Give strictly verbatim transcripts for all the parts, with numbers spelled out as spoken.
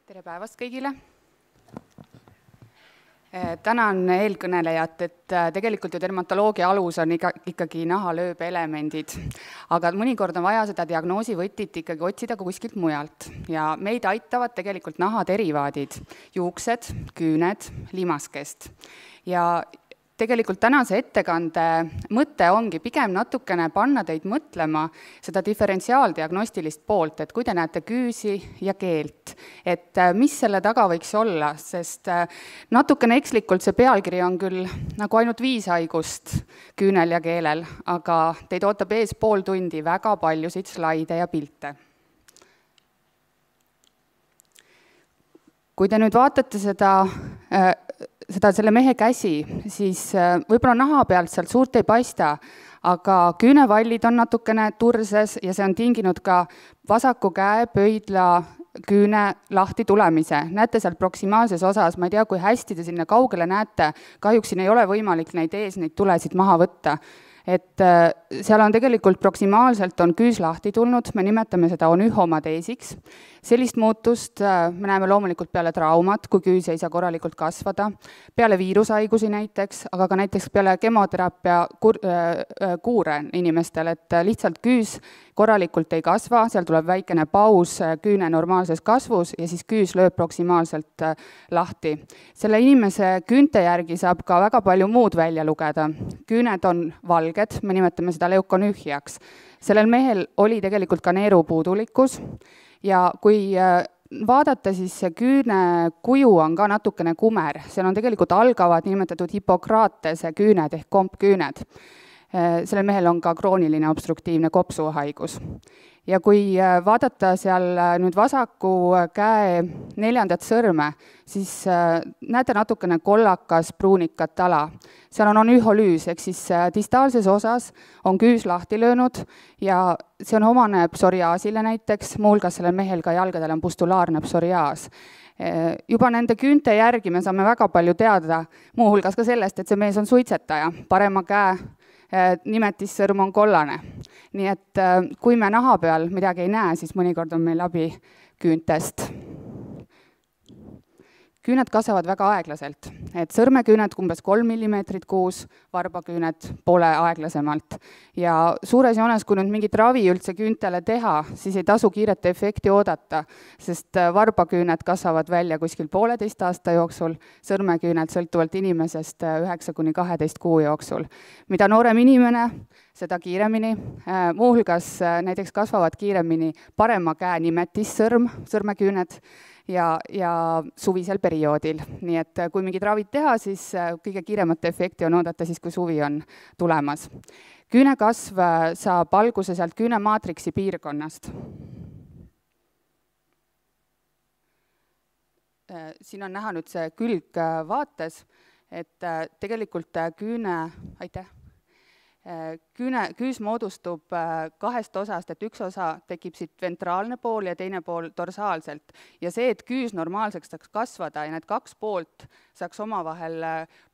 Tere päevast kõigile! Tänan eelkõnelejat, et tegelikult ju dermatoloogia alus on ikkagi nahalööbe elemendid, aga mõnikord on vaja seda diagnoosivõtit ikkagi otsida kuskilt mujalt ja meid aitavad tegelikult nahaterivaadid, juuksed, küüned, limaskest ja tegelikult tänase ettekande mõte ongi pigem natukene panna teid mõtlema seda diferentsiaaldiagnostilist poolt, et kui te näete küüsi ja keelt, et mis selle taga võiks olla, sest natukene ekslikult see pealkiri on küll nagu ainult viis haigust küünel ja keelel, aga teid ootab ees pool tundi väga paljusid slaide ja pilte. Kui te nüüd vaatate seda seda selle mehe käsi, siis võib-olla naha pealt sealt suurt ei paista, aga küünevallid on natukene turses ja see on tinginud ka vasaku käe pöidla küüne lahti tulemise. Näete seal proksimaalses osas, ma ei tea, kui hästi te sinna kaugele näete, kahjuks siin ei ole võimalik neid ees, neid tulesid maha võtta. Et seal on tegelikult proksimaalselt on küüs lahti tulnud, me nimetame seda onühomadeesiks. Sellist muutust me näeme loomulikult peale traumat, kui küüs ei saa korralikult kasvada, peale viirushaigusi näiteks, aga ka näiteks peale kemoteraapia kuure inimestel, et lihtsalt küüs korralikult ei kasva, seal tuleb väikene paus küüne normaalses kasvus ja siis küüs lööb proksimaalselt lahti. Selle inimese küünte järgi saab ka väga palju muud välja lugeda. Küüned on valged, me nimetame seda leukonühjaks. Sellel mehel oli tegelikult ka neerupuudulikkus ja kui vaadata, siis see küüne kuju on ka natukene kumer. Seal on tegelikult algavad nimetatud hipokraatese küüned ehk kompküüned. Sellel mehel on ka krooniline obstruktiivne kopsuhaigus. Ja kui vaadata seal nüüd vasaku käe neljandat sõrme, siis näete natukene kollakas pruunikat ala. Seal on onüholüüs, ehk siis distaalses osas on küüs lahti löönud ja see on omane psoriaasile näiteks, muulgas sellel mehel ka jalgadel on pustulaarne psoriaas. Juba nende küünte järgi me saame väga palju teada, muuhulgas ka sellest, et see mees on suitsetaja, parema käe nimetissõrm on kollane. Nii et kui me naha peal midagi ei näe, siis mõnikord on meil abi küüntest. Küüned kasvavad väga aeglaselt, et sõrmeküüned umbes kolm millimeetrit kuus, varbaküüned poole aeglasemalt. Ja suures joones, kui nüüd mingit ravi üldse küüntele teha, siis ei tasu kiiret efekti oodata, sest varbaküüned kasvavad välja kuskil pooleteist aasta jooksul, sõrmeküüned sõltuvalt inimesest üheksa kuni kaheteist kuu jooksul. Mida noorem inimene, seda kiiremini, muuhulgas näiteks kasvavad kiiremini parema käe nimetissõrm, sõrmeküüned, ja, ja suvisel perioodil. Nii et kui mingid ravid teha, siis kõige kiiremat efekti on oodata siis, kui suvi on tulemas. Küünekasv saab alguse sealt küünemaatriksi piirkonnast. Siin on näha nüüd see külg vaates, et tegelikult küüne, aitäh, Küüne, küüs moodustub kahest osast, et üks osa tekib siit ventraalne pool ja teine pool dorsaalselt. Ja see, et küüs normaalseks saaks kasvada ja need kaks poolt saaks omavahel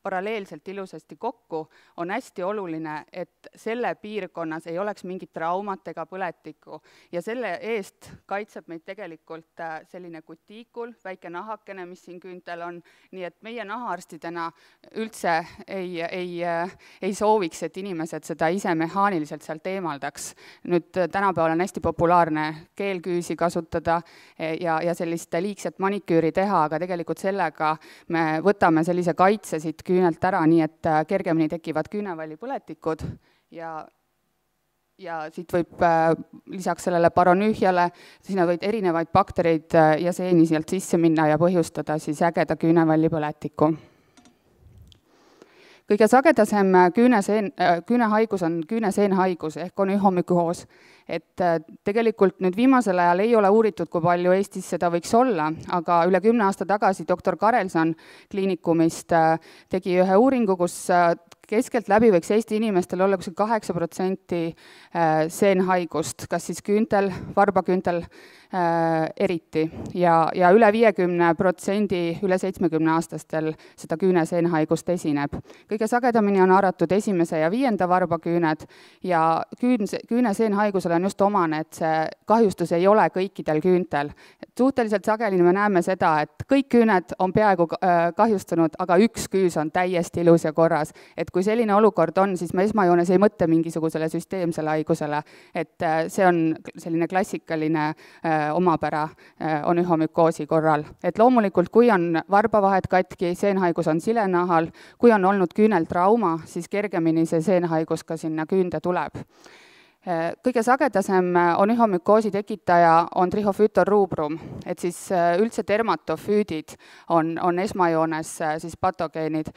paralleelselt ilusasti kokku, on hästi oluline, et selle piirkonnas ei oleks mingit traumat ega põletikku. Ja selle eest kaitseb meid tegelikult selline kutiikul, väike nahakene, mis siin küüntel on. Nii et meie nahaarstidena üldse ei, ei, ei sooviks, et inimesed seda ise mehaaniliselt sealt eemaldaks. Nüüd tänapäeval on hästi populaarne keelküüsi kasutada ja, ja sellist liigset maniküüri teha, aga tegelikult sellega me võtame sellise kaitse siit küünelt ära, nii et kergemini tekivad küünevallipõletikud ja, ja siit võib lisaks sellele paronühjale, sinna võid erinevaid baktereid ja seeni sealt sisse minna ja põhjustada siis ägeda küünevallipõletiku. Kõige sagedasem küüneseen, küünehaigus on küüneseenhaigus ehk onühomükoos. Et tegelikult nüüd viimasel ajal ei ole uuritud, kui palju Eestis seda võiks olla, aga üle kümne aasta tagasi doktor Karelson kliinikumist tegi ühe uuringu, kus keskelt läbi võiks Eesti inimestel olla kaheksa protsenti seenhaigust, kas siis küüntel, varbaküüntel eriti ja, ja üle viiekümne protsendi üle seitsmekümne aastastel seda küüneseenhaigust esineb. Kõige sagedamini on haaratud esimese ja viienda varbaküüned ja küün, küüneseenhaigusel on just omane, et see kahjustus ei ole kõikidel küüntel. Suhteliselt sageli me näeme seda, et kõik küüned on peaaegu kahjustunud, aga üks küüs on täiesti ilus ja korras. Et kui selline olukord on, siis me esmajoones ei mõtle mingisugusele süsteemsele haigusele, et see on selline klassikaline omapära onühomükoosi korral. Et loomulikult, kui on varbavahed katki, seenhaigus on silenahal, kui on olnud küüneltrauma, siis kergemini see seenhaigus ka sinna küünde tuleb. Kõige sagedasem onühomükoosi tekitaja on Trichophyton rubrum, et siis üldse dermatofüüdid on, on esmajoones siis patogeenid.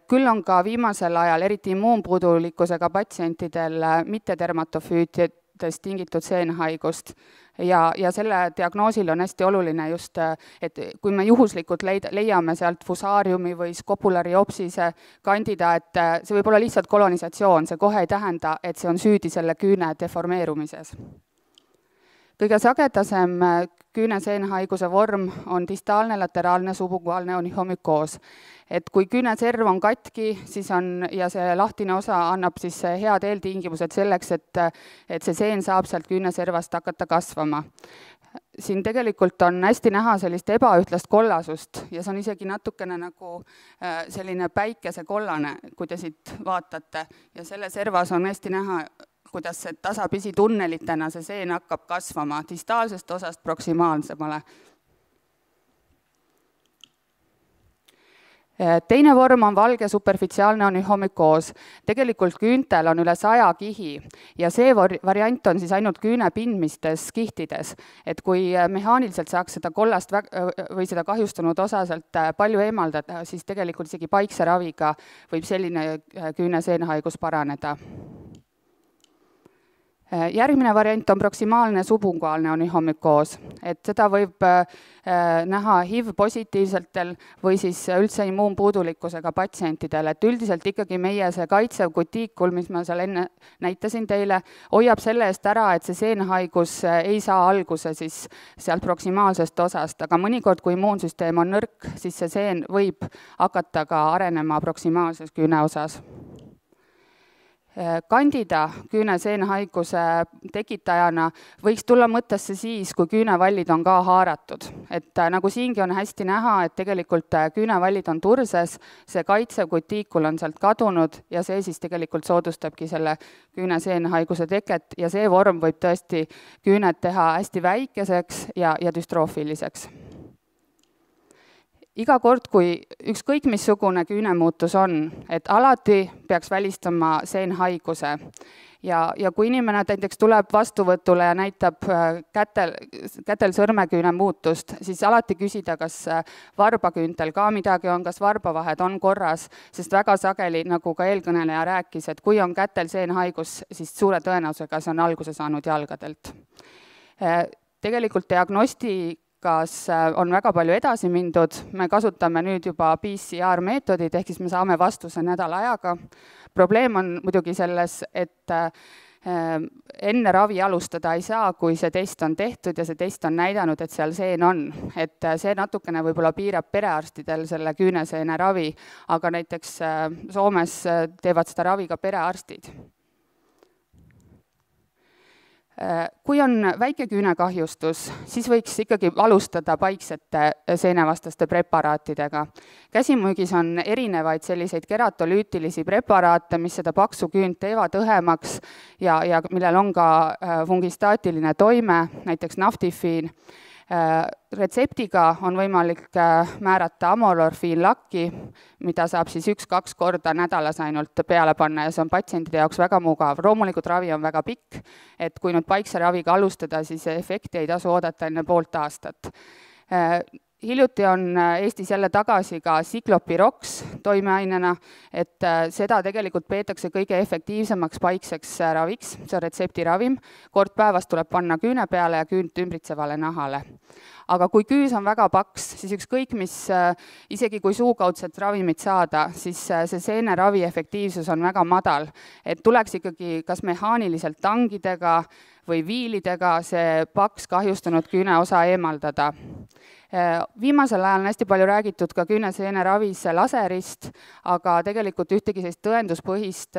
Küll on ka viimasel ajal eriti immuunpuudulikkusega patsientidel mitte dermatofüüdidest tingitud seenhaigust. Ja, ja selle diagnoosil on hästi oluline just, et kui me juhuslikult leid, leiame sealt fusaariumi või skopulariopsise kandida, et see võib olla lihtsalt kolonisatsioon, see kohe ei tähenda, et see on süüdi selle küüne deformeerumises. Kõige sagedasem küüneseenhaiguse vorm on distaalne lateraalne subunguaalne onühomükoos. Et kui küüneserv on katki, siis on, ja see lahtine osa annab siis head eeltingimused selleks, et, et see seen saab sealt küüneservast hakata kasvama. Siin tegelikult on hästi näha sellist ebaühtlast kollasust ja see on isegi natukene nagu selline päikesekollane, kui te siit vaatate. Ja selle servas on hästi näha, kuidas see tasapisi tunnelitena see seen hakkab kasvama distaalsest osast proksimaalsemale. Teine vorm on valge superficiaalne onühomükoos. Tegelikult küüntel on üle saja kihi ja see variant on siis ainult küüne pindmistes kihtides. Et kui mehaaniliselt saaks seda kollast või seda kahjustunud osa sealt palju eemaldada, siis tegelikult isegi paikse raviga võib selline küüneseenhaigus paraneda. Järgmine variant on proksimaalne subunguaalne onühomükoos, et seda võib näha H I V-positiivsetel või siis üldse immuunpuudulikkusega patsientidel, et üldiselt ikkagi meie see kaitsev kutiikul, mis ma seal enne näitasin teile, hoiab selle eest ära, et see seenhaigus ei saa alguse siis sealt proksimaalsest osast, aga mõnikord, kui immuunsüsteem on nõrk, siis see seen võib hakata ka arenema proksimaalses küüne osas. Kandida küüneseenhaiguse tekitajana võiks tulla mõttesse siis, kui küünevallid on ka haaratud. Et nagu siingi on hästi näha, et tegelikult küünevallid on turses, see kaitsev kutiikul on sealt kadunud ja see siis tegelikult soodustabki selle küüneseenhaiguse teket ja see vorm võib tõesti küüned teha hästi väikeseks ja, ja düstroofiliseks. Iga kord, kui ükskõik missugune küünemuutus on, et alati peaks välistama seenhaiguse ja, ja kui inimene näiteks tuleb vastuvõtule ja näitab kätel, kätel sõrmeküüne muutust, siis alati küsida, kas varbaküüntel ka midagi on, kas varbavahed on korras, sest väga sageli, nagu ka eelkõneleja rääkis, et kui on kätel seenhaigus, siis suure tõenäosusega see on alguse saanud jalgadelt. Tegelikult diagnosti kas on väga palju edasi mindud, me kasutame nüüd juba P C R meetodid, ehk siis me saame vastuse nädala ajaga. Probleem on muidugi selles, et enne ravi alustada ei saa, kui see test on tehtud ja see test on näidanud, et seal seen on. Et see natukene võib-olla piirab perearstidel selle küüneseene ravi, aga näiteks Soomes teevad seda ravi ka perearstid. Kui on väike küünekahjustus, siis võiks ikkagi alustada paiksete seenevastaste preparaatidega. Käsimüügis on erinevaid selliseid keratolüütilisi preparaate, mis seda paksu küünt teevad õhemaks ja, ja millel on ka fungistaatiline toime, näiteks naftifiin. Retseptiga on võimalik määrata amolorfiinlakki, mida saab siis üks-kaks korda nädalas ainult peale panna ja see on patsientide jaoks väga mugav. Loomulikult ravi on väga pikk, et kui nüüd paikse raviga alustada, siis efekti ei tasu oodata enne poolt aastat. Hiljuti on Eestis jälle tagasi ka Cyclopirox toimeainena, et seda tegelikult peetakse kõige efektiivsemaks paikseks raviks, see on retseptiravim. Kord päevas tuleb panna küüne peale ja küünt ümbritsevale nahale. Aga kui küüs on väga paks, siis ükskõik mis, isegi kui suukaudset ravimit saada, siis see seeneravi efektiivsus on väga madal. Et tuleks ikkagi kas mehaaniliselt tangidega või viilidega see paks kahjustunud küüneosa eemaldada. Viimasel ajal on hästi palju räägitud ka küüneseene ravis laserist, aga tegelikult ühtegi sellist tõenduspõhist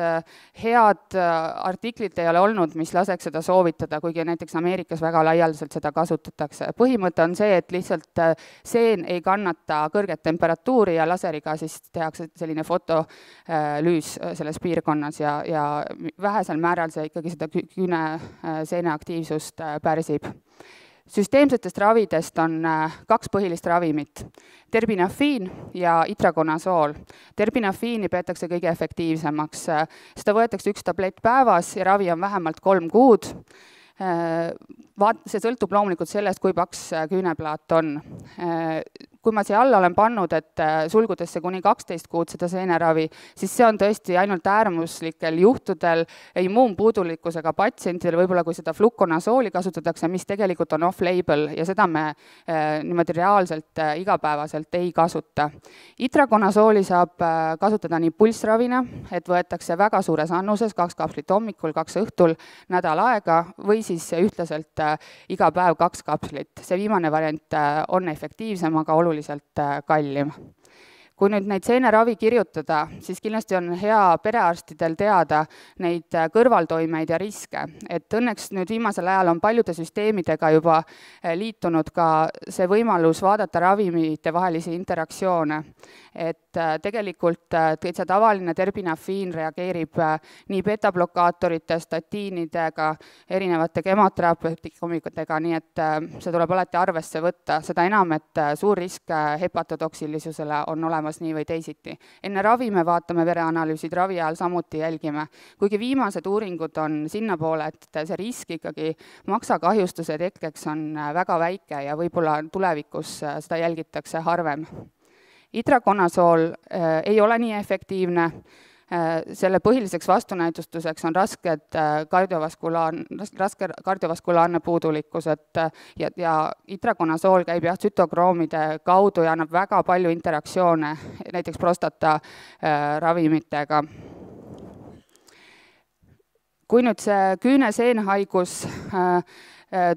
head artiklit ei ole olnud, mis laseks seda soovitada, kuigi näiteks Ameerikas väga laialdaselt seda kasutatakse. Põhimõte on see, et lihtsalt seen ei kannata kõrget temperatuuri ja laseriga siis tehakse selline fotolüüs selles piirkonnas ja, ja vähesel määral see ikkagi seda küüneseene aktiivsust pärsib. Süsteemsetest ravidest on kaks põhilist ravimit, terbinafiin ja itrakonasool. Terbinafiini peetakse kõige efektiivsemaks. Seda võetakse üks tablett päevas ja ravi on vähemalt kolm kuud. Vaat, see sõltub loomulikult sellest, kui paks küüneplaat on. Kui ma siia alla olen pannud, et sulgudesse kuni kaksteist kuud seda seeneravi, siis see on tõesti ainult äärmuslikel juhtudel immuunpuudulikkusega patsientidel, võib-olla kui seda flukonasooli kasutatakse, mis tegelikult on off-label ja seda me niimoodi reaalselt igapäevaselt ei kasuta. Itrakonasooli saab kasutada nii pulssravina, et võetakse väga suures annuses, kaks kapslit hommikul, kaks õhtul, nädal aega või siis ühtlaselt iga päev kaks kapslit. See viimane variant on efektiivsem, aga oluliselt kallim. Kui nüüd neid seeneravi kirjutada, siis kindlasti on hea perearstidel teada neid kõrvaltoimeid ja riske. Et õnneks nüüd viimasel ajal on paljude süsteemidega juba liitunud ka see võimalus vaadata ravimite vahelisi interaktsioone. Et tegelikult täitsa tavaline terbinafiin reageerib nii beta-blokaatorite, statiinidega, erinevate kemoterapeutikkumikutega, nii et see tuleb alati arvesse võtta. Seda enam, et suur risk hepatotoksilisusele on olemas nii või teisiti. Enne ravi me vaatame vereanalüüsid, ravi ajal samuti jälgime. Kuigi viimased uuringud on sinna poole, et see risk ikkagi maksakahjustuse tekkeks on väga väike ja võib-olla tulevikus seda jälgitakse harvem. Itrakonasool ei ole nii efektiivne. Selle põhiliseks vastunäitustuseks on rasked kardiovaskulaar, raske kardiovaskulaarne puudulikkus, et ja, ja itrakonasool käib jah tsütokroomide kaudu ja annab väga palju interaktsioone, näiteks prostata ravimitega. Kui nüüd see küüneseenhaigus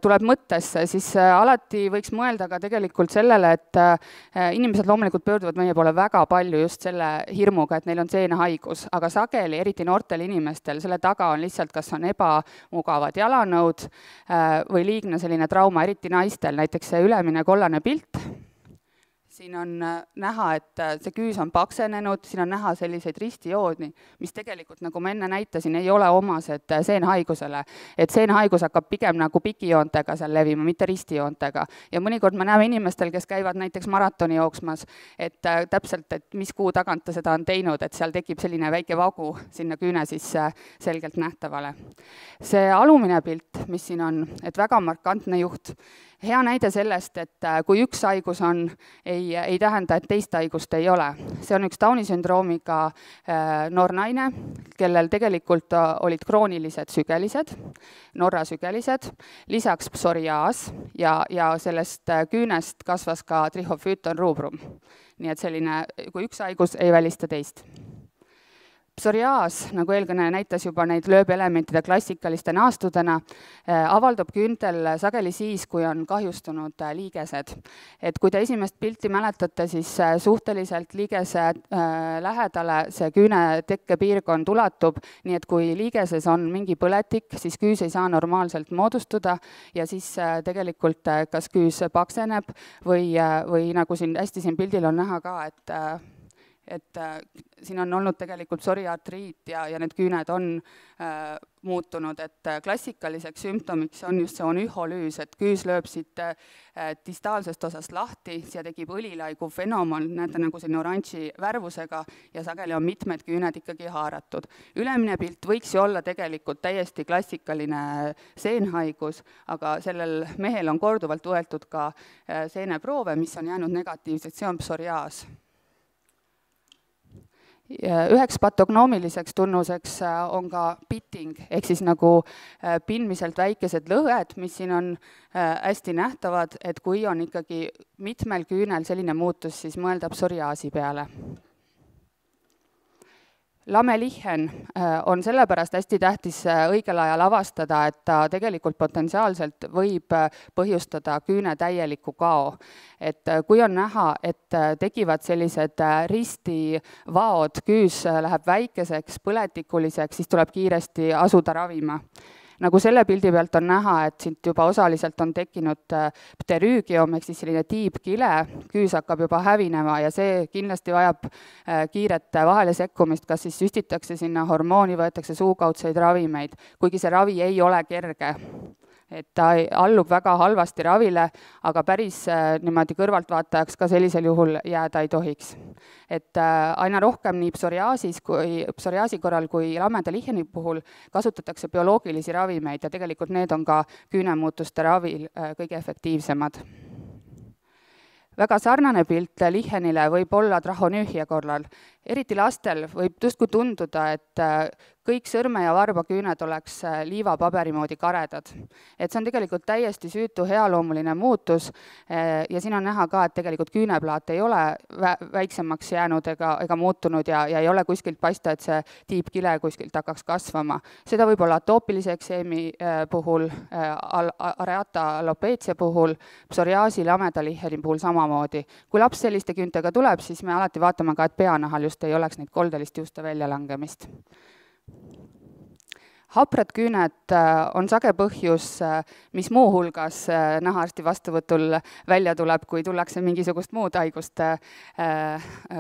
tuleb mõttesse, siis alati võiks mõelda ka tegelikult sellele, et inimesed loomulikult pöörduvad meie poole väga palju just selle hirmuga, et neil on seenehaigus, aga sageli, eriti noortel inimestel, selle taga on lihtsalt, kas on ebamugavad jalanõud või liigne selline trauma, eriti naistel, näiteks see ülemine kollane pilt. Siin on näha, et see küüs on paksenenud, siin on näha selliseid ristijoodni, mis tegelikult, nagu ma enne näitasin, ei ole omased seenhaigusele. Et seenhaigus hakkab pigem nagu pikijoontega seal levima, mitte ristijoontega. Ja mõnikord me näeme inimestel, kes käivad näiteks maratoni jooksmas, et täpselt, et mis kuu tagant ta seda on teinud, et seal tekib selline väike vagu sinna küüne sisse selgelt nähtavale. See alumine pilt, mis siin on, et väga markantne juht, hea näide sellest, et kui üks haigus on, ei, ei tähenda, et teist haigust ei ole. See on üks Downi sündroomiga noor naine, kellel tegelikult olid kroonilised sügelised, Norra sügelised, lisaks psoriaas ja, ja sellest küünest kasvas ka trichophyton rubrum. Nii et selline, kui üks haigus ei välista teist. Psoriaas, nagu eelkõneleja näitas juba neid lööbelementide klassikaliste naastudena, avaldub küüntel sageli siis, kui on kahjustunud liigesed. Et kui te esimest pilti mäletate, siis suhteliselt liigese lähedale see küüne tekkepiirkond ulatub, nii et kui liigeses on mingi põletik, siis küüs ei saa normaalselt moodustuda ja siis tegelikult kas küüs pakseneb või, või nagu siin hästi siin pildil on näha ka, et et siin on olnud tegelikult psoriaatriit ja, ja need küüned on äh, muutunud, et klassikaliseks sümptomiks on just see onüholüüs, et küüs lööb siit äh, distaalsest osast lahti, siia tekib õlilaigu fenomen, näete nagu selline oranži värvusega ja sageli on mitmed küüned ikkagi haaratud. Ülemine pilt võiks ju olla tegelikult täiesti klassikaline seenhaigus, aga sellel mehel on korduvalt võetud ka äh, seeneproove, mis on jäänud negatiivsed, see on psoriaas. Üheks patognoomiliseks tunnuseks on ka pitting, ehk siis nagu pinmiselt väikesed lõhed, mis siin on hästi nähtavad, et kui on ikkagi mitmel küünel selline muutus, siis mõelda psoriaasi peale. Lamelihen on sellepärast hästi tähtis õigel ajal avastada, et ta tegelikult potentsiaalselt võib põhjustada küüne täieliku kao. Et kui on näha, et tekivad sellised ristivaod, küüs läheb väikeseks, põletikuliseks, siis tuleb kiiresti asuda ravima. Nagu selle pildi pealt on näha, et siit juba osaliselt on tekkinud pterüügium, ehk siis selline tiibkile, küüs hakkab juba hävinema ja see kindlasti vajab kiiret vahele sekkumist, kas siis süstitakse sinna hormooni, võetakse suukaudseid ravimeid, kuigi see ravi ei ole kerge. Et ta allub väga halvasti ravile, aga päris niimoodi kõrvaltvaatajaks ka sellisel juhul jääda ei tohiks. Et aina rohkem nii psoriaasis kui, psoriaasi korral kui lameda liheni puhul kasutatakse bioloogilisi ravimeid ja tegelikult need on ka küünemuutuste ravil kõige efektiivsemad. Väga sarnane pilt lihenile võib olla trahonüühia korral. Eriti lastel võib justkui tunduda, et kõik sõrme- ja varbaküüned oleks liivapaberi moodi karedad. Et see on tegelikult täiesti süütu healoomuline muutus ja siin on näha ka, et tegelikult küüneplaat ei ole väiksemaks jäänud ega, ega muutunud ja, ja ei ole kuskilt paista, et see tiibkile kuskilt hakkaks kasvama. Seda võib olla atoopilise ekseemi puhul, areata alopeetsia puhul, psoriaasi lameda liheni puhul samamoodi. Kui laps selliste küüntega tuleb, siis me alati vaatame ka, et peanahal just ei oleks neid koldelist juuste väljalangemist. Haprad küüned on sage põhjus, mis muu hulgas nahaarsti vastuvõtul välja tuleb, kui tullakse mingisugust muud haigust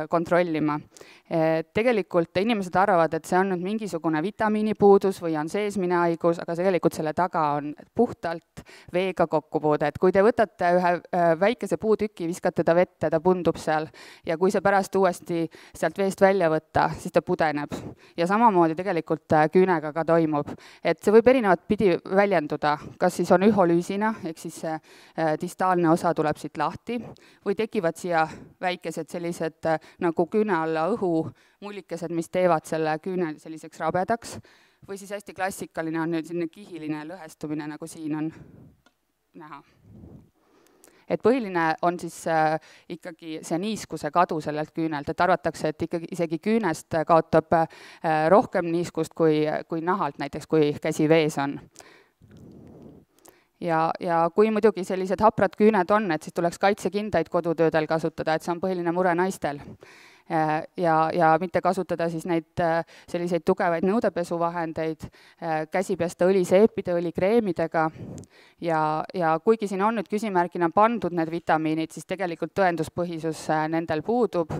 kontrollima. Tegelikult inimesed arvavad, et see on nüüd mingisugune vitamiinipuudus või on seesmine haigus, aga tegelikult selle taga on puhtalt veega kokkupuude. Et kui te võtate ühe väikese puutüki, viskate ta vette, ta pundub seal ja kui see pärast uuesti sealt veest välja võtta, siis ta pudeneb. Ja samamoodi tegelikult küünega ka toimub. Et see võib erinevat pidi väljenduda, kas siis on üholüüsina, ehk siis see distaalne osa tuleb siit lahti, või tekivad siia väikesed sellised nagu küüne alla õhu mullikesed, mis teevad selle küüne selliseks rabedaks, või siis hästi klassikaline on nüüd selline kihiline lõhestumine, nagu siin on näha. Et põhiline on siis äh, ikkagi see niiskuse kadu sellelt küünelt, et arvatakse, et ikkagi isegi küünest kaotab äh, rohkem niiskust kui, kui nahalt, näiteks kui käsi vees on. Ja, ja kui muidugi sellised haprad küüned on, et siis tuleks kaitsekindaid kodutöödel kasutada, et see on põhiline mure naistel. Ja, ja mitte kasutada siis neid selliseid tugevaid nõudepesuvahendeid, käsi pesta õliseepide, õlikreemidega ja, ja kuigi siin on nüüd küsimärgina pandud need vitamiinid, siis tegelikult tõenduspõhisus nendel puudub,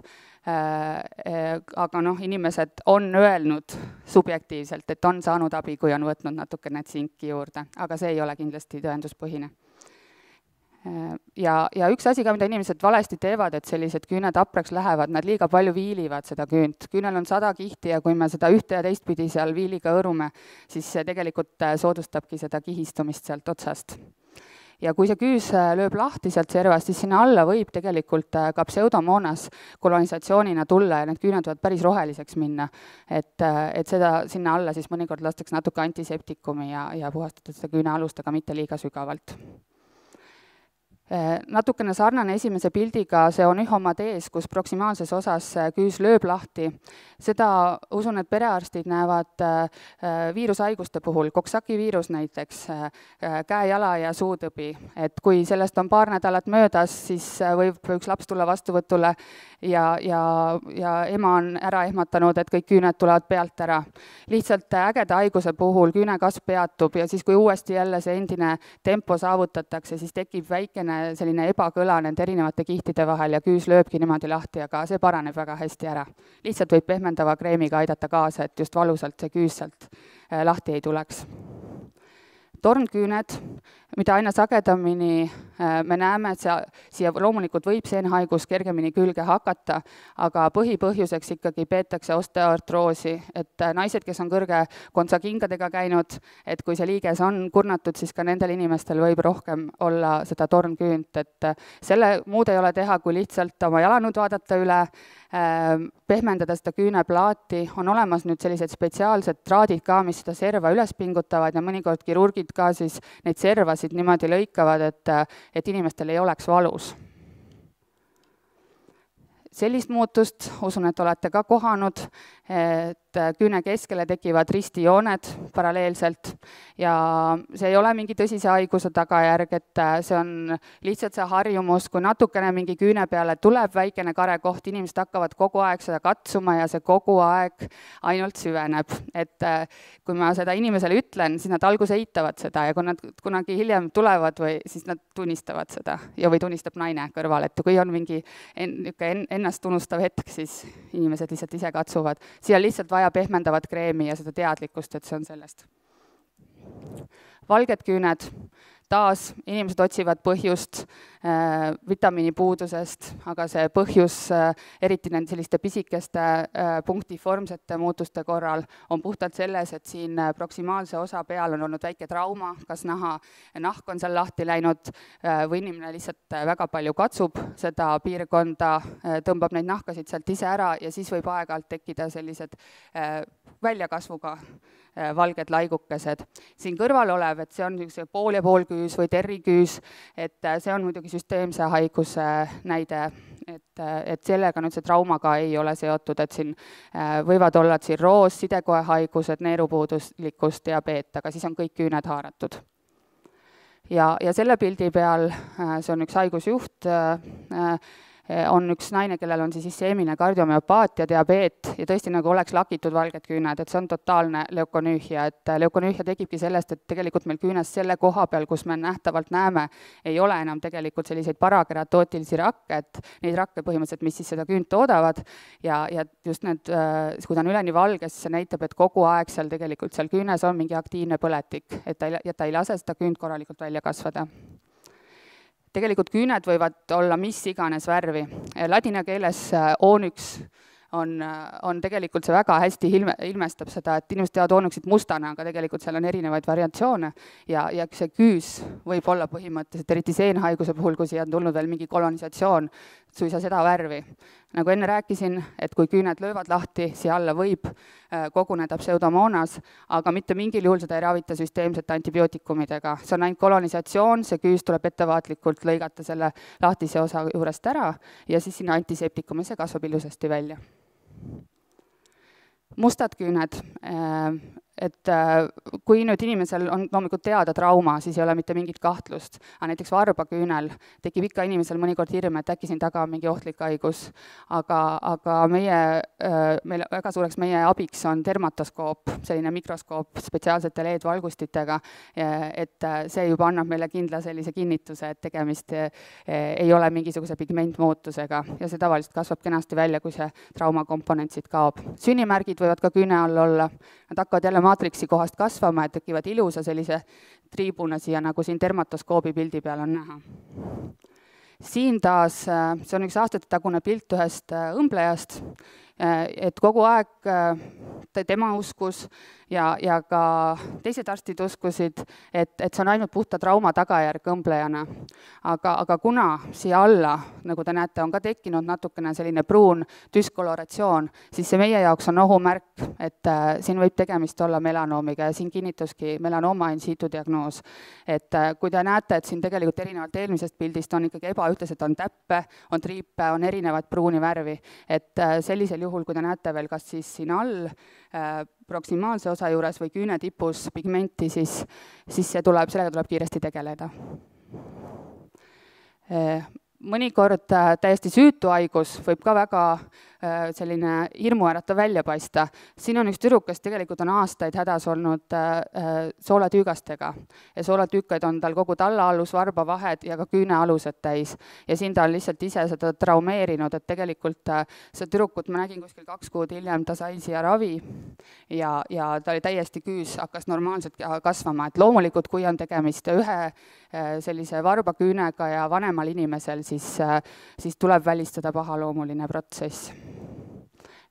aga noh, inimesed on öelnud subjektiivselt, et on saanud abi, kui on võtnud natukene tsinki juurde, aga see ei ole kindlasti tõenduspõhine. Ja, ja üks asi ka, mida inimesed valesti teevad, et sellised küüned hapraks lähevad, nad liiga palju viilivad seda küünt. Küünel on sada kihti ja kui me seda ühte ja teistpidi seal viiliga õrume, siis see tegelikult soodustabki seda kihistumist sealt otsast. Ja kui see küüs lööb lahti sealt servast, siis sinna alla võib tegelikult ka pseudomoonas kolonisatsioonina tulla ja need küüned võivad päris roheliseks minna. Et, et seda sinna alla siis mõnikord lastakse natuke antiseptikumi ja, ja puhastada seda küüne alust, aga mitte liiga sügavalt. Natukene sarnane esimese pildiga, see on ühomadees, kus proksimaalses osas küüs lööb lahti. Seda usun, et perearstid näevad viirushaiguste puhul, Coxsackie viirus näiteks, käe, jala ja suutõbi. Et kui sellest on paar nädalat möödas, siis võib üks laps tulla vastuvõtule ja, ja, ja ema on ära ehmatanud, et kõik küüned tulevad pealt ära. Lihtsalt ägeda haiguse puhul küünekasv peatub ja siis, kui uuesti jälle see endine tempo saavutatakse, siis tekib väikene selline ebakõla nende erinevate kihtide vahel ja küüs lööbki niimoodi lahti, aga see paraneb väga hästi ära. Lihtsalt võib pehmendava kreemiga aidata kaasa, et just valusalt see küüs sealt lahti ei tuleks. Tornküüned, mida aina sagedamini me näeme, et see, siia loomulikult võib seenhaigus kergemini külge hakata, aga põhipõhjuseks ikkagi peetakse osteoartroosi, et naised, kes on kõrge kontsakingadega käinud, et kui see liiges on kurnatud, siis ka nendel inimestel võib rohkem olla seda tornküünt, et selle muud ei ole teha, kui lihtsalt oma jalanõud vaadata üle, pehmendada seda küüneplaati, on olemas nüüd sellised spetsiaalsed traadid ka, mis seda serva üles pingutavad ja mõnikord kirurgid ka siis neid servasid niimoodi lõikavad, et, et inimestel ei oleks valus. Sellist muutust, usun, et olete ka kohanud, et küüne keskele tekivad ristijooned paralleelselt ja see ei ole mingi tõsise haiguse tagajärg, et see on lihtsalt see harjumus, kui natukene mingi küüne peale tuleb väikene karekoht, inimesed hakkavad kogu aeg seda katsuma ja see kogu aeg ainult süveneb. Et kui ma seda inimesele ütlen, siis nad alguses eitavad seda ja kui nad kunagi hiljem tulevad või siis nad tunnistavad seda ja või tunnistab naine kõrval, et kui on mingi en, en, ennast tunnustav hetk, siis inimesed lihtsalt ise katsuvad. Siia lihtsalt vaja pehmendavat kreemi ja seda teadlikkust, et see on sellest. Valged küüned, taas inimesed otsivad põhjust äh, vitamiinipuudusest, aga see põhjus äh, eriti nende selliste pisikeste äh, punktiformsete muutuste korral on puhtalt selles, et siin äh, proksimaalse osa peal on olnud väike trauma, kas naha, nahk on seal lahti läinud äh, või inimene lihtsalt äh, väga palju katsub seda piirkonda, äh, tõmbab neid nahkasid sealt ise ära ja siis võib aeg-ajalt tekkida sellised äh, väljakasvuga äh, valged laigukesed. Siin kõrval olev, et see on niisuguse pool ja pool küüs või terriküüs, et see on muidugi süsteemse haiguse näide, et, et sellega nüüd see traumaga ei ole seotud, et siin võivad olla tsirroos, sidekoehaigused, neerupuuduslikkus, diabeet, aga siis on kõik küüned haaratud. Ja, ja selle pildi peal, see on üks haigusjuht, on üks naine, kellel on siis isseemiline kardiomüopaatia, diabeet ja tõesti nagu oleks lakitud valged küüned, et see on totaalne leukonüühia, et leukonüühia tekibki sellest, et tegelikult meil küünes selle koha peal, kus me nähtavalt näeme, ei ole enam tegelikult selliseid parakeratootilisi rakke, et neid rakke põhimõtteliselt, mis siis seda küünt toodavad ja, ja just need, kui ta on üleni valge, siis see näitab, et kogu aeg seal tegelikult seal küünes on mingi aktiivne põletik, et ta ei, ja ta ei lase seda küünt korralikult välja kasvada. Tegelikult küüned võivad olla mis iganes värvi. Ladina keeles oonyx on, on tegelikult see väga hästi ilme, ilmestab seda, et inimesed teavad oonyxit mustana, aga tegelikult seal on erinevaid variatsioone ja, ja see küüs võib olla põhimõtteliselt, eriti seenhaiguse puhul, kui siia on tulnud veel mingi kolonisatsioon, suisa seda värvi. Nagu enne rääkisin, et kui küüned löövad lahti, siia alla võib koguneda pseudomoonas, aga mitte mingil juhul seda ei ravita süsteemsete antibiootikumidega. See on ainult kolonisatsioon, see küüs tuleb ettevaatlikult lõigata selle lahtise osa juurest ära ja siis sinna antiseptikumi see kasvab ilusasti välja. Mustad küüned, et kui nüüd inimesel on loomulikult teada trauma, siis ei ole mitte mingit kahtlust, aga näiteks varbaküünel tekib ikka inimesel mõnikord hirm, et äkki siin taga on mingi ohtlik haigus, aga, aga meie, meil väga suureks meie abiks on dermatoskoop, selline mikroskoop spetsiaalsete L E D-valgustitega, et see juba annab meile kindla sellise kinnituse, et tegemist ei ole mingisuguse pigmentmuutusega ja see tavaliselt kasvab kenasti välja, kui see traumakomponent siit kaob. Sünnimärgid võivad ka küüne all olla, nad hakkavad jälle maatriksi kohast kasvama, et tekivad ilusa sellise triibuna siia, nagu siin dermatoskoobi pildi peal on näha. Siin taas, see on üks aastate tagune pilt ühest õmblejast, et kogu aeg tema uskus ja, ja ka teised arstid uskusid, et, et see on ainult puhta trauma tagajärg õmblejana. Aga, aga kuna siia alla, nagu te näete, on ka tekkinud natukene selline pruun düskoloratsioon, siis see meie jaoks on ohumärk, et äh, siin võib tegemist olla melanoomiga ja siin kinnituski melanooma in situ diagnoos. Et äh, kui te näete, et siin tegelikult erinevalt eelmisest pildist on ikkagi ebaühtlased, on täppe, on triipe, on erinevad pruuni värvi, et äh, sellisel juhul, kui te näete veel kas siis siin all äh, proksimaalse osa juures või küüne tipus pigmenti, siis, siis see tuleb, sellega tuleb kiiresti tegeleda. Mõnikord täiesti süütu haigus võib ka väga selline hirmuäratav välja paista. Siin on üks tüdruk, kes tegelikult on aastaid hädas olnud soolatüükastega ja soolatüükaid on tal kogu tallaalus, varbavahed ja ka küünealused täis. Ja siin ta on lihtsalt ise seda traumeerinud, et tegelikult see tüdrukut ma nägin kuskil kaks kuud hiljem, ta sai siia ravi ja, ja ta oli täiesti küüs, hakkas normaalselt kasvama. Et loomulikult, kui on tegemist ühe sellise varbaküünega ja vanemal inimesel, siis, siis tuleb välistada pahaloomuline protsess.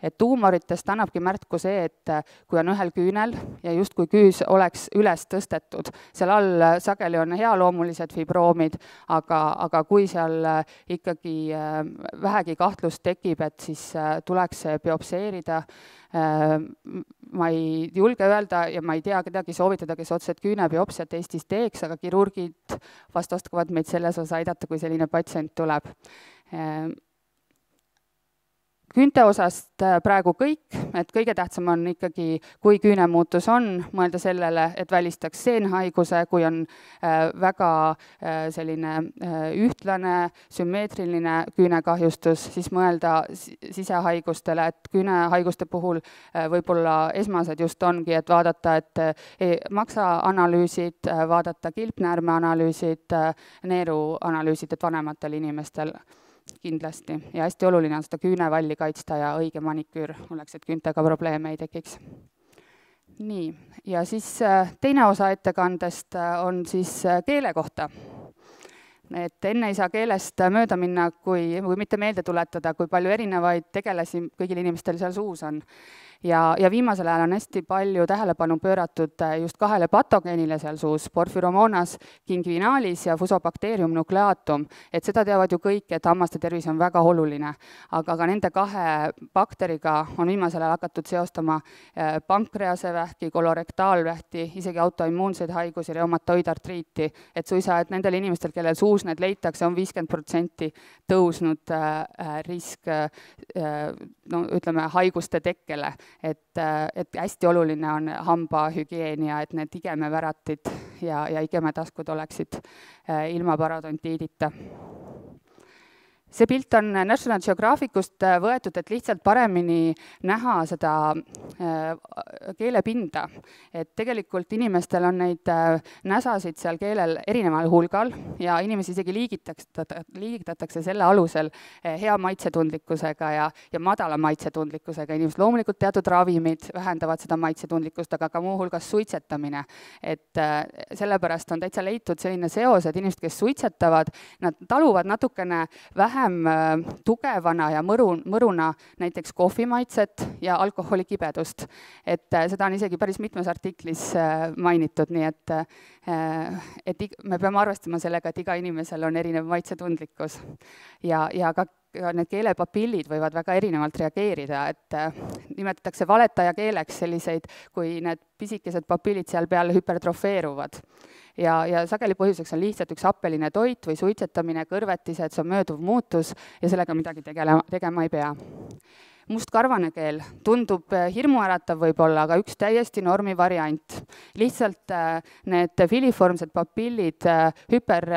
Et tuumoritest annabki märku see, et kui on ühel küünel ja just kui küüs oleks üles tõstetud, seal all sageli on healoomulised fibroomid, aga, aga kui seal ikkagi vähegi kahtlust tekib, et siis tuleks see biopseerida. Ma ei julge öelda ja ma ei tea kedagi soovitada, kes otseselt küünebiopsiat Eestis teeks, aga kirurgid vast oskavad meid selles osas aidata, kui selline patsient tuleb. küünte osast praegu kõik, et kõige tähtsam on ikkagi, kui küünemuutus on, mõelda sellele, et välistaks seenhaiguse, kui on väga selline ühtlane, sümmeetriline küünekahjustus, siis mõelda sisehaigustele, et küünehaiguste puhul võib-olla esmased just ongi, et vaadata, et maksaanalüüsid, vaadata kilpnäärmeanalüüsid, neeruanalüüsid, et vanematel inimestel kindlasti. Ja hästi oluline on seda küünevalli kaitsta ja õige maniküür oleks, et küüntega probleeme ei tekiks. Nii, ja siis teine osa ettekandest on siis keele kohta. Et enne ei saa keelest mööda minna, kui, kui mitte meelde tuletada, kui palju erinevaid tegelasi kõigil inimestel seal suus on. Ja, ja viimasel ajal on hästi palju tähelepanu pööratud just kahele patogeenile seal suus, Porphyromonas ginguinalis ja Fusobacterium nucleatum. Et seda teavad ju kõik, et hammaste tervis on väga oluline. Aga ka nende kahe bakteriga on viimasel ajal hakatud seostama pankreasevähki, kolorektaalvähki, isegi autoimmuunseid haigusi, reumatoidartriiti. Et suisa, et nendel inimestel, kellel suus need leitakse, on viiskümmend protsenti tõusnud risk, no ütleme, haiguste tekkele. Et, et hästi oluline on hambahügieen ja et need igemeväratid ja, ja igemetaskud oleksid ilma parodontiidita. See pilt on National Geographicust võetud, et lihtsalt paremini näha seda keelepinda. Et tegelikult inimestel on neid näsasid seal keelel erineval hulgal ja inimesi isegi liigitatakse selle alusel hea maitsetundlikkusega ja, ja madala maitsetundlikkusega. Inimesed loomulikult teatud ravimid vähendavad seda maitsetundlikkust, aga ka muu hulgas suitsetamine. Et sellepärast on täitsa leitud selline seos, et inimesed, kes suitsetavad, nad taluvad natukene vähem tugevana ja mõru, mõruna näiteks kohvimaitset ja alkoholikibedust. Et seda on isegi päris mitmes artiklis mainitud, nii et, et me peame arvestama sellega, et iga inimesel on erinev maitsetundlikkus. Ja, ja ka need keelepapillid võivad väga erinevalt reageerida, et nimetatakse valetaja keeleks selliseid, kui need pisikesed papillid seal peal hüpertrofeeruvad. Ja, ja sageli põhjuseks on lihtsalt üks happeline toit või suitsetamine, kõrvetised, see on mööduv muutus ja sellega midagi tegema, tegema ei pea. Mustkarvane keel tundub hirmuäratav võib-olla, aga üks täiesti normi variant. Lihtsalt need filiformsed papillid hüper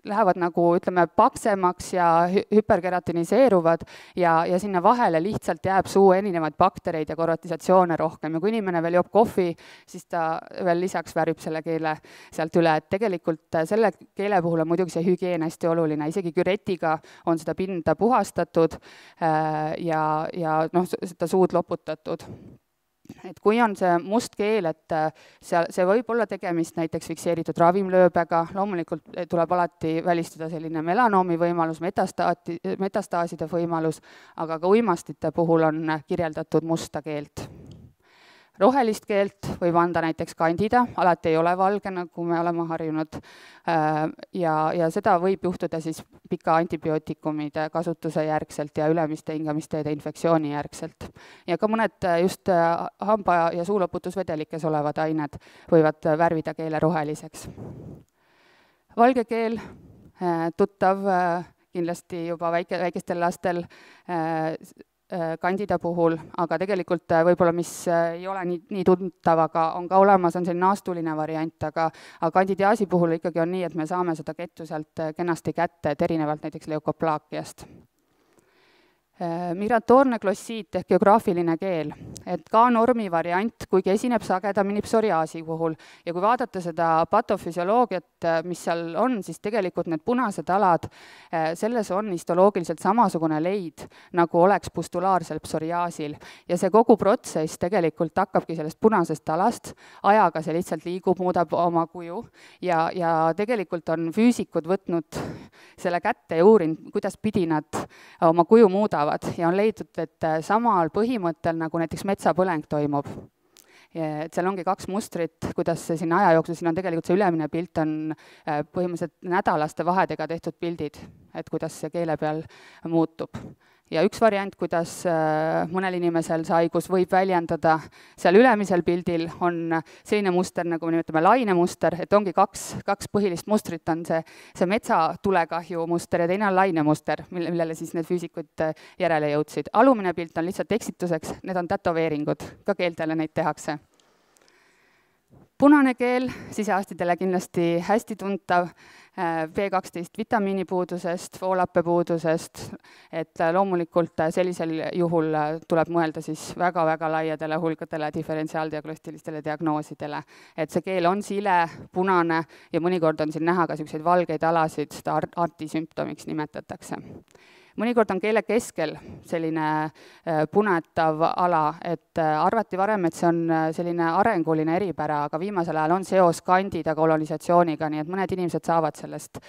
lähevad nagu, ütleme, paksemaks ja hüperkeratiniseeruvad ja, ja sinna vahele lihtsalt jääb suu erinevaid baktereid ja korvatisatsioone rohkem. Ja kui inimene veel joob kohvi, siis ta veel lisaks värvib selle keele sealt üle. Et tegelikult selle keele puhul on muidugi see hügieen hästi oluline. Isegi küretiga on seda pinda puhastatud ja, ja noh, seda suud loputatud. Et kui on see must keel, et seal, see võib olla tegemist näiteks fikseeritud ravimlööbega, loomulikult tuleb alati välistada selline melanoomi võimalus, metastaati, metastaaside võimalus, aga ka uimastite puhul on kirjeldatud musta keelt. Rohelist keelt võib anda näiteks kandida, alati ei ole valge, nagu me oleme harjunud, ja, ja seda võib juhtuda siis pika antibiootikumide kasutuse järgselt ja ülemiste hingamisteede infektsiooni järgselt. Ja ka mõned just hamba- ja suuloputusvedelikes olevad ained võivad värvida keele roheliseks. Valge keel, tuttav kindlasti juba väike, väikestel lastel, kandida puhul, aga tegelikult võib-olla, mis ei ole nii, nii tuntav, aga on ka olemas, on selline naastuline variant, aga, aga kandidiaasi puhul ikkagi on nii, et me saame seda kettu sealt kenasti kätte, et erinevalt näiteks leukoplaakiast. Migratoorne glossiit ehk geograafiline keel, et ka normi variant, kuigi esineb sagedamini psoriaasi puhul. Ja kui vaadata seda patofüsioloogiat, mis seal on, siis tegelikult need punased alad, selles on histoloogiliselt samasugune leid, nagu oleks pustulaarsel psoriaasil. Ja see kogu protsess tegelikult hakkabki sellest punasest alast, ajaga see lihtsalt liigub, muudab oma kuju ja, ja tegelikult on füüsikud võtnud selle kätte ja uurinud, kuidas pidi nad oma kuju muudavad. Ja on leidnud, et samal põhimõttel, nagu näiteks metsapõleng toimub. Et seal ongi kaks mustrit, kuidas see siin aja jooksul, siin on tegelikult see ülemine pilt on põhimõtteliselt nädalaste vahedega tehtud pildid, et kuidas see keele peal muutub. Ja üks variant, kuidas mõnel inimesel see haigus võib väljendada, seal ülemisel pildil on selline muster, nagu me nimetame lainemuster, et ongi kaks, kaks põhilist mustrit, on see, see metsatulekahju muster ja teine on lainemuster, millele siis need füüsikud järele jõudsid. Alumine pilt on lihtsalt eksituseks, need on tätoveeringud, ka keeltele neid tehakse. Punane keel, sisearstidele kindlasti hästi tuntav, B kaksteist vitamiinipuudusest, foolappepuudusest, et loomulikult sellisel juhul tuleb mõelda siis väga-väga laiadele hulkadele diferentsiaaldiagnostilistele diagnoosidele. Et see keel on sile, punane ja mõnikord on siin näha ka selliseid valgeid alasid, seda artisümptomiks nimetatakse. Mõnikord on keele keskel selline punetav ala, et arvati varem, et see on selline arenguline eripära, aga viimasel ajal on seos kandida kolonisatsiooniga, nii et mõned inimesed saavad sellest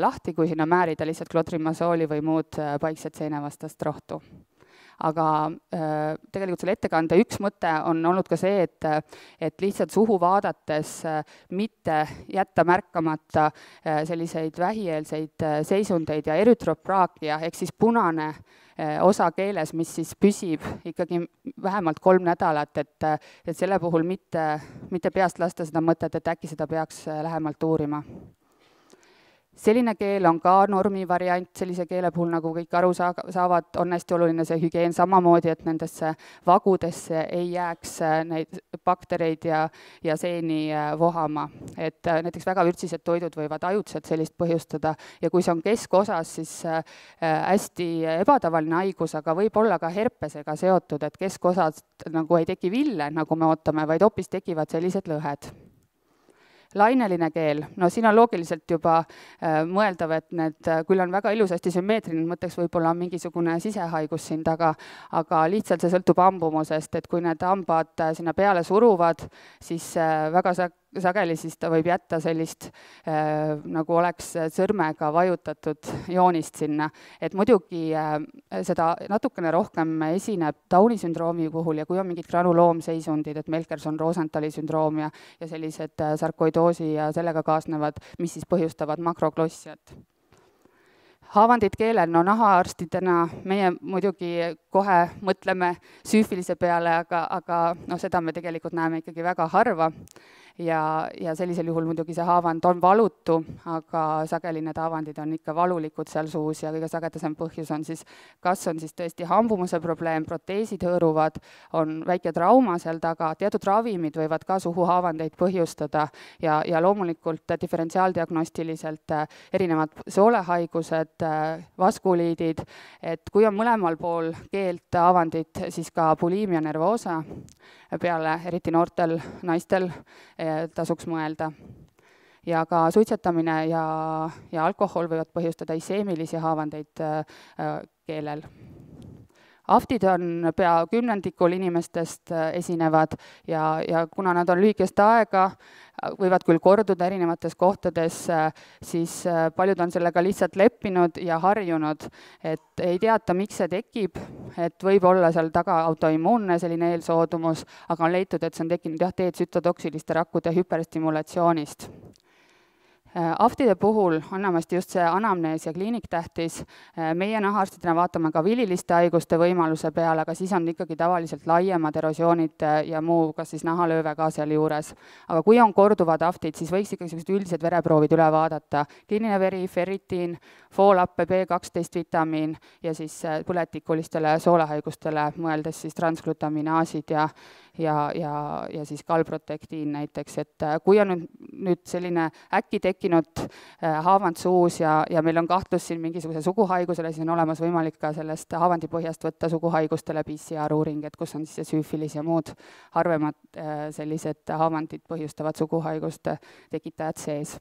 lahti, kui sinna määrida lihtsalt klotrimasooli või muud paikset seenevastast rohtu. Aga tegelikult selle ettekande üks mõte on olnud ka see, et, et lihtsalt suhu vaadates mitte jätta märkamata selliseid vähieelseid seisundeid ja erytropraakia, ehk siis punane osa keeles, mis siis püsib ikkagi vähemalt kolm nädalat, et, et selle puhul mitte, mitte peast lasta seda mõtet, et äkki seda peaks lähemalt uurima. Selline keel on ka normi variant, sellise keele puhul, nagu kõik aru saavad, on hästi oluline see hügieen samamoodi, et nendesse vagudesse ei jääks neid baktereid ja, ja seeni vohama. Et näiteks väga vürtsised toidud võivad ajutselt sellist põhjustada ja kui see on keskosas, siis hästi ebatavaline haigus, aga võib olla ka herpesega seotud, et keskosast nagu ei teki ville, nagu me ootame, vaid hoopis tekivad sellised lõhed. Laineline keel, no siin on loogiliselt juba äh, mõeldav, et need küll on väga ilusasti sümmeetriline, mõtteks võib-olla on mingisugune sisehaigus siin taga, aga lihtsalt see sõltub hambumusest, et kui need hambad sinna peale suruvad, siis äh, väga sa sageli siis ta võib jätta sellist, äh, nagu oleks sõrmega vajutatud joonist sinna. Et muidugi äh, seda natukene rohkem esineb Downi sündroomi puhul ja kui on mingid granuloomseisundid, et Melkerson-Rosenthali sündroom ja, ja sellised äh, sarkoidoosi ja sellega kaasnevad, mis siis põhjustavad makroglossiat. Haavandid keelel, no nahaarstidena meie muidugi kohe mõtleme süüfilise peale, aga, aga no, seda me tegelikult näeme ikkagi väga harva. Ja, ja sellisel juhul muidugi see haavand on valutu, aga sageli need haavandid on ikka valulikud seal suus ja kõige sagedasem põhjus on siis, kas on siis tõesti hambumuse probleem, proteesid hõõruvad, on väike trauma seal taga, teatud ravimid võivad ka suhuhaavandeid põhjustada ja, ja loomulikult diferentsiaaldiagnostiliselt erinevad soolehaigused, vaskuliidid, et kui on mõlemal pool keelt haavandid, siis ka bulimia nervoosa peale, eriti noortel naistel, tasuks mõelda. Ja ka suitsetamine ja, ja alkohol võivad põhjustada iseemilisi haavandeid keelel. Aftid on pea kümnendikul inimestest esinevad ja, ja kuna nad on lühikest aega, võivad küll korduda erinevates kohtades, siis paljud on sellega lihtsalt leppinud ja harjunud, et ei teata, miks see tekib, et võib olla seal taga autoimmuunne selline eelsoodumus, aga on leitud, et see on tekkinud jah, teetsütotoksiliste rakkude hüperesstimulatsioonist. Aftide puhul on enamasti just see anamnees ja kliiniktähtis. Meie nahaarstidena vaatame ka vililiste haiguste võimaluse peale, aga siis on ikkagi tavaliselt laiemad erosioonid ja muu, kas siis nahalööve ka seal juures. Aga kui on korduvad aftid, siis võiks ikkagi sellised üldised vereproovid üle vaadata. Kliiniline veri, ferritiin, foolappe, B kaksteist vitamiin ja siis põletikulistele soolehaigustele mõeldes siis transglutaminaasid ja ja, ja, ja siis kalprotektiin näiteks, et kui on nüüd, nüüd selline äkki tekkinud haavand suus ja, ja meil on kahtlus siin mingisuguse suguhaigusele, siis on olemas võimalik ka sellest haavandipõhjast võtta suguhaigustele P C R-uuring, et kus on siis see süüfilis ja muud harvemad sellised haavandid põhjustavad suguhaiguste tekitajad sees.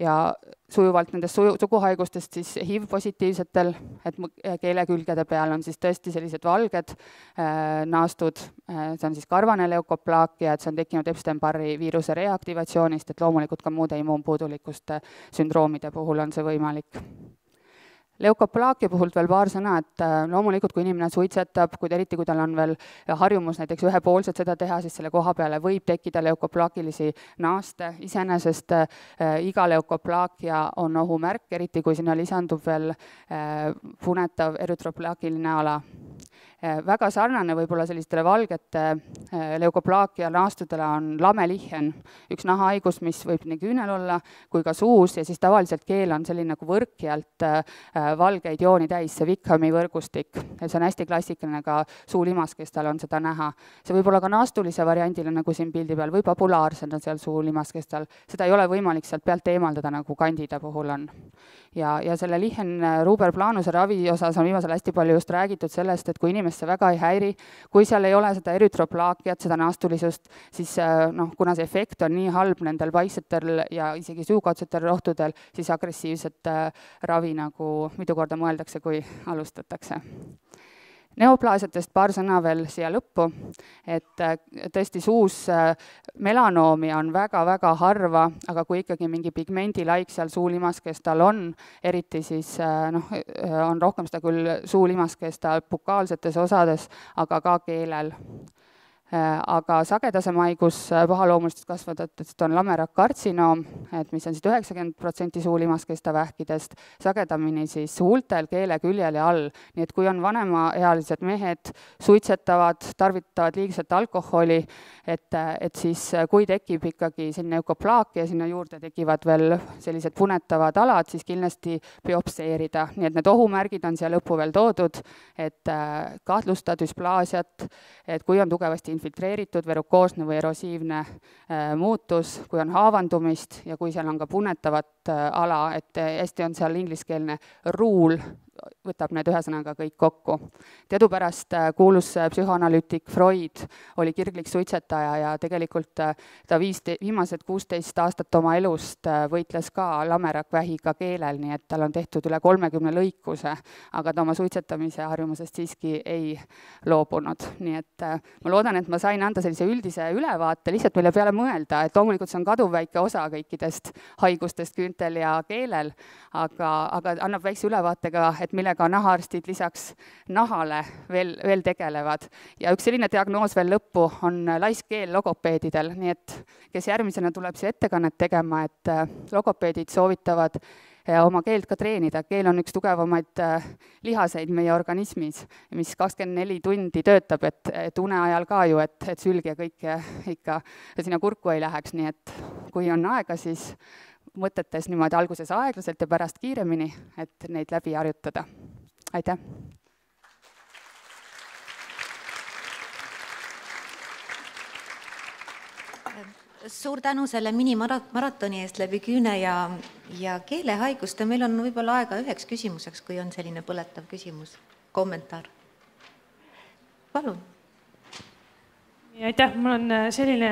Ja sujuvalt nendest suguhaigustest siis H I V-positiivsetel, et keele külgede peal on siis tõesti sellised valged äh, naastud, äh, see on siis karvane leukoplaakia, et see on tekkinud Epstein-Barri viiruse reaktivatsioonist, et loomulikult ka muude immuunpuudulikkuste sündroomide puhul on see võimalik. Leukoplaakia puhult veel paar sõna, et loomulikult, kui inimene suitsetab, kui eriti kui tal on veel harjumus näiteks ühepoolselt seda teha, siis selle koha peale võib tekkida leukoplaakilisi naaste. Iseenesest iga leukoplaakia on ohumärk, eriti kui sinna lisandub veel punetav erytroplaakiline ala. Väga sarnane võib-olla sellistele valgete leukoplaakia naastudele on lamelihen, üks nahahaigus, mis võib nii küünel olla kui ka suus ja siis tavaliselt keel on selline nagu võrkjalt valgeid jooni täis, see Wickhami võrgustik. See on hästi klassikaline ka suulimaskestal on seda näha. See võib olla ka naastulise variandile nagu siin pildi peal või populaarsena seal suulimaskestal. Seda ei ole võimalik sealt pealt eemaldada nagu kandida puhul on. Ja, ja selle lihen Ruber planuse ravi osas on viimasel hästi palju just räägitud sellest, et kui inimene see väga ei häiri, kui seal ei ole seda erytroplaakiat, seda naastulisust, siis noh, kuna see efekt on nii halb nendel paiksetel ja isegi suukaudsetel rohtudel, siis agressiivset ravi nagu mitu korda mõeldakse, kui alustatakse. Neoplaasiatest paar sõna veel siia lõppu, et tõesti suus melanoomi on väga-väga harva, aga kui ikkagi mingi pigmendilaik seal suulimaskestal on, eriti siis noh, on rohkem seda küll suulimaskestal bukaalsetes osades, aga ka keelel. Aga sagedasem haigus pahaloomulistest kasvatajatest on lamerakkartsinoom, et mis on siis üheksakümmend protsenti suulimaskesta vähkidest, sagedamini siis huultel, keele, küljel ja all. Nii et kui on vanemaealised mehed, suitsetavad, tarvitavad liigselt alkoholi, et, et siis kui tekib ikkagi selline eukoplaakia, sinna juurde tekivad veel sellised punetavad alad, siis kindlasti biopseerida. Nii et need ohumärgid on siia lõppu veel toodud, et kahtlusta dysplaasiat, et kui on tugevasti infiltreeritud, verukoosne või erosiivne muutus, kui on haavandumist ja kui seal on ka punetavat ala, et hästi on seal ingliskeelne ruul, võtab need ühesõnaga kõik kokku. Teadupärast kuulus psühhoanalüütik Freud oli kirglik suitsetaja ja tegelikult ta viiste, viimased kuusteist aastat oma elust võitles ka lamerakvähiga keelel, nii et tal on tehtud üle kolmekümne lõikuse, aga ta oma suitsetamise harjumusest siiski ei loobunud. Nii et ma loodan, et ma sain anda sellise üldise ülevaate, lihtsalt mille peale mõelda, et loomulikult see on kaduvväike osa kõikidest haigustest küüntel ja keelel, aga, aga annab väikse ülevaatega, et millega nahaarstid lisaks nahale veel, veel tegelevad. Ja üks selline diagnoos veel lõppu on laiskeel logopeedidel, nii et kes järgmisena tuleb siia ettekannet tegema, et logopeedid soovitavad oma keelt ka treenida. Keel on üks tugevamaid lihaseid meie organismis, mis kakskümmend neli tundi töötab, et, et une ajal ka ju, et, et sülg ja kõik ikka sinna kurku ei läheks, nii et kui on aega, siis mõtetes niimoodi alguses aeglaselt ja pärast kiiremini, et neid läbi harjutada. Aitäh! Suur tänu selle minimaratoni eest läbi küüne ja, ja keelehaiguste. Meil on võib-olla aega üheks küsimuseks, kui on selline põletav küsimus, kommentaar. Palun. Aitäh, mul on selline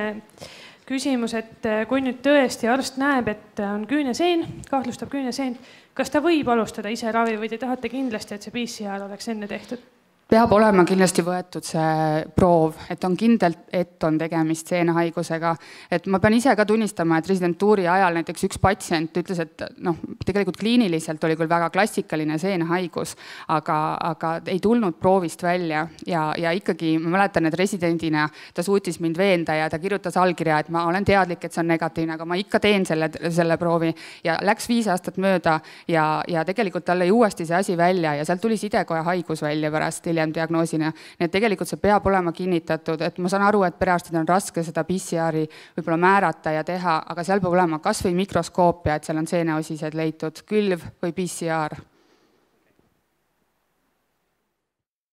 küsimus, et kui nüüd tõesti arst näeb, et on küüneseen, kahtlustab küüneseen, kas ta võib alustada ise ravi või te tahate kindlasti, et see P C R oleks enne tehtud? Peab olema kindlasti võetud see proov, et on kindlalt, et on tegemist seenehaigusega. Et ma pean ise ka tunnistama, et residentuuri ajal näiteks üks patsient ütles, et noh, tegelikult kliiniliselt oli küll väga klassikaline seenehaigus, aga, aga ei tulnud proovist välja ja, ja ikkagi ma mäletan, et residendina ta suutis mind veenda ja ta kirjutas allkirja, et ma olen teadlik, et see on negatiivne, aga ma ikka teen selle, selle proovi ja läks viis aastat mööda ja, ja tegelikult talle uuesti see asi välja ja sealt tuli sidekoja haigus välja pärast hiljem diagnoosina. Nii et tegelikult see peab olema kinnitatud, et ma saan aru, et perearstid on raske seda P C R-i võib-olla määrata ja teha, aga seal peab olema kas või mikroskoopia, et seal on seeneosised leitud, külv või P C R.